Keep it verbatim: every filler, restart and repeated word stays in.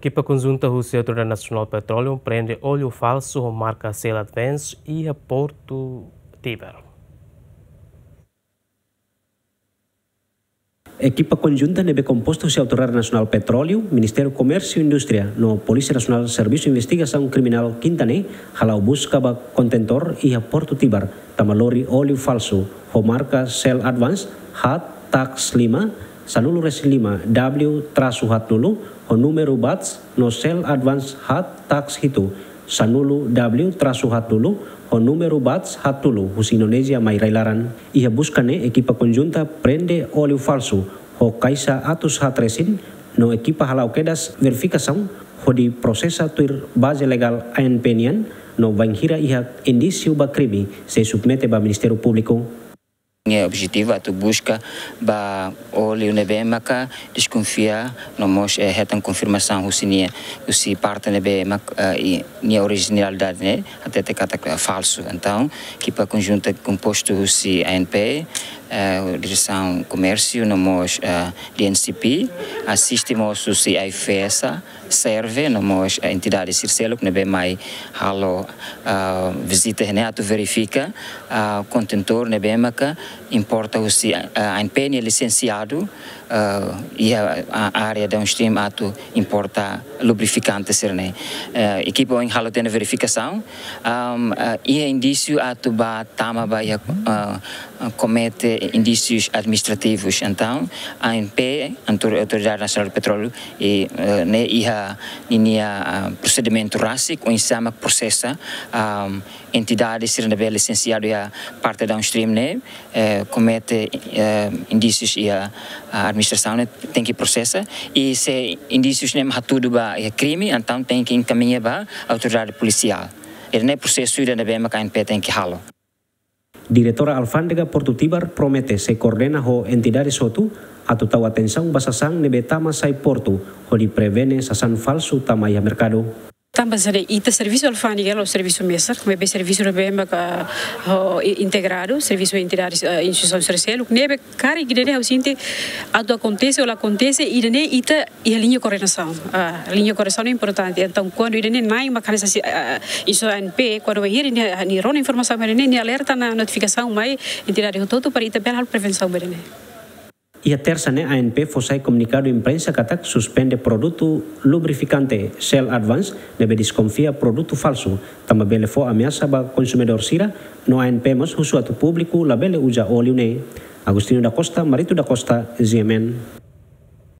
Ekipa konjunta husi Autoridade Nasionál Petróleu prende óleu falsu ho marka Shell Advance iha Portu Tibar. Ekipa konjunta ne'ebé kompostu husi Autoridade Nasionál Petróleu, Ministériu Komérsiu Indústria no Polísia Nasionál Servisu Investigasaun Kriminál kinta ne'e hala'o buska ba kontentór iha Portu Tibar, tanba lori óleu falsu ho marka Shell Advance, hat tax lima, sanulu resin lima W trasu haat nulu, ho númeru batch no Shell Advance hat tax hitu, sanulu W trasu haat nulu, ho númeru batch haat tolu, husi Indonézia mai rai-laran. Iha buska ne'e ekipa konjunta prende óleu falsu ho kaixa atus haat resin, no ekipa hala'o kedas verifikasaun hodi prosesa tuir baze legál ANP nian, no bainhira iha indísiu ba krime sei submete ba Ministériu Públiku. Nia objetivu atu buska ba óleu ne'ebé maka deskonfia no mós, eh, hetan konfirmasaun husi nia, husi parte ne'ebé mak, eh, i nia orijinalidade ne'e hatete katak, eh, falsu. Entaun, ekipa konjunta kompostu husi ANP, eh, Diresaun Komérsiu no mós, eh, DNCP, asiste mós husi AIFAESA, SERVE no mós, eh, entidade sira seluk ne'ebé mai halo, ah, vizita ne'e atu verifika, ah, kontentór ne'ebé maka importa husi, ah, ANP nia lisensiadu, ah, iha, ah, área downstream atu importa lubrifikante sira-ne'e. Eh, ekipa ohin halo tiha ona verifikasaun, am, ah, iha indísiu atu ba tama ba iha, ah, komete indísius administrativus. Entaun, ANP, Autor-, Autoridade Nasionál Petróleu, i, eh, ne'e iha ninia, ah, prosedimentu rasik oinsá mak prosesa, ah, entidade sira ne'ebé lisensiadu iha parte downstream ne'e, eh, komete, eh, indísius iha, ah, administrasaun ne'e tenke prosesa, i se indísius ne'e hatudu ba iha krime, entaun tenke enkamiña ba autoridade polisiál. Ida-ne'e prosesu ida ne'ebé maka ANP tenke halo. Diretora Alfándega Portu Tibar promete sei koordena ho entidades hotu atu tau atensaun ba sasán ne'ebé tama sai portu, hodi prevene sasán falsu tama iha merkadu. Tanba sá de'it, ita servisu alfándega la'ós servisu mesak, maibé servisu ne'ebé maka, ah, i-, integradu, servisu entidades, ah, instituisaun sira seluk, ne'ebé karik ida-ne'e ha'u sente atu akontese ou la akontese, ida-ne'e ita iha liña koordenasaun. Ah, liña koordenasaun ne'e importante. Entaun, kuandu ida-ne'e na'in mak hanesan si, ah, iso ANP, kuandu bainhira nia, nia rona informasaun ba ida-ne'e, nia alerta ona notifikasaun mai entidade hotu-hotu para ita bele halo prevensaun ba ida-ne'e. Iha Tersa ne'e ANP fó sai komunikadu imprensa katak suspende produtu lubrifikante Shell Advance ne'ebé deskonfia produtu falsu, tanba bele fó ameasa ba konsumidór sira, no ANP mós husu atu públiku labele uza óleu ne'e. Agostinho da Costa, Marito da Costa, GMN.